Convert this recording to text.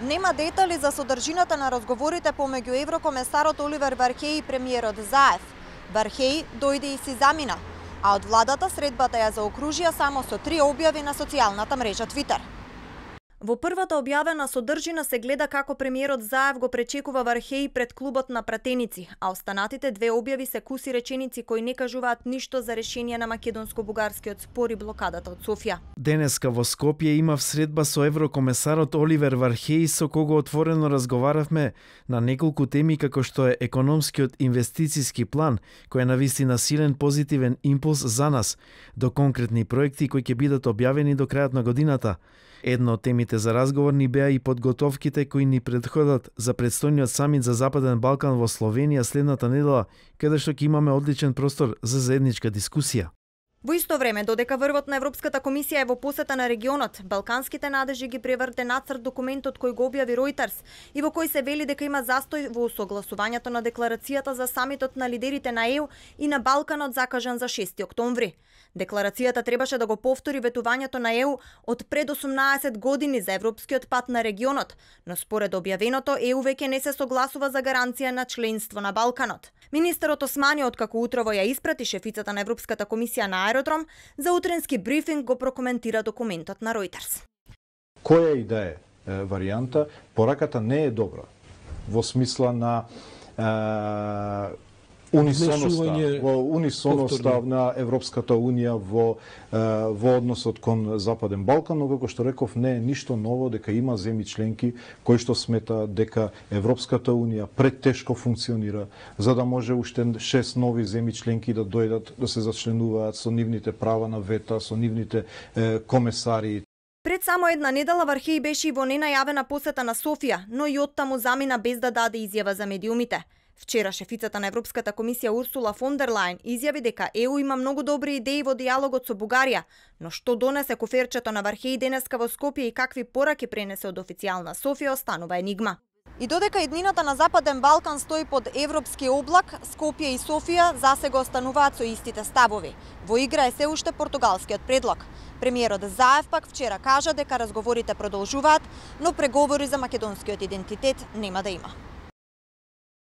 Нема детали за содржината на разговорите помеѓу еврокомесарот Оливер Вархеј и премиерот Заев. Вархеј дојде и си замина, а од владата средбата ја заокружија само со 3 објави на социјалната мрежа Твитер. Во првата објавена содржина се гледа како премиерот Заев го пречекува Вархеј пред клубот на пратеници, а останатите 2 објави се куси реченици кои не кажуваат ништо за решение на македонско-бугарскиот спор и блокадата од Софија. Денеска во Скопје имав средба со еврокомесарот Оливер Вархеј, со кого отворено разговаравме на неколку теми како што е економскиот инвестициски план, кој е навистина силен позитивен импулс за нас, до конкретни проекти кои ќе бидат објавени до крајот на годината. Едно од темите за разговор ни беа и подготовките кои ни предходат за предстојниот самит за Западен Балкан во Словенија следната недела, каде што ќе имаме одличен простор за заедничка дискусија. Во исто време, додека врвот на Европската комисија е во посета на регионот, балканските надежи ги преврте нацрт документот кој го објави Reuters и во кој се вели дека има застој во согласувањето на декларацијата за самитот на лидерите на ЕУ и на Балканот закажан за 6 октомври. Декларацијата требаше да го повтори ветувањето на ЕУ од пред 18 години за европскиот пат на регионот, но според објавеното ЕУ веќе не се согласува за гаранција на членство на Балканот. Министерот Османи, откако утрово ја испрати шефицата на Европската комисија на аеродром, за утренски брифинг го прокоментира документот на Reuters. Која и да е варијанта, пораката не е добра во смисла на унисоноста на Европската Унија во односот кон Западен Балкан, но како што реков, не е ништо ново дека има земји членки кои што сметаат дека Европската Унија претешко функционира за да може уште 6 нови земји членки да дојдат да се зачленуваат со нивните права на вета, со нивните комесари. Пред само една недела Вархеј беше и во ненајавена посета на Софија, но и оттаму замина без да даде изјава за медиумите. Вчера шефицата на Европската комисија Урсула фон дер Лајен изјави дека ЕУ има многу добри идеи во дијалогот со Бугарија, но што донесе коферчето на Вархеј денеска во Скопје и какви пораки пренесе од официјална Софија останува енигма. И додека иднината на Западен Балкан стои под европски облак, Скопје и Софија засега остануваат со истите ставови. Во игра е се уште португалскиот предлог. Премиерот Заев пак вчера кажа дека разговорите продолжуваат, но преговори за македонскиот идентитет нема да има.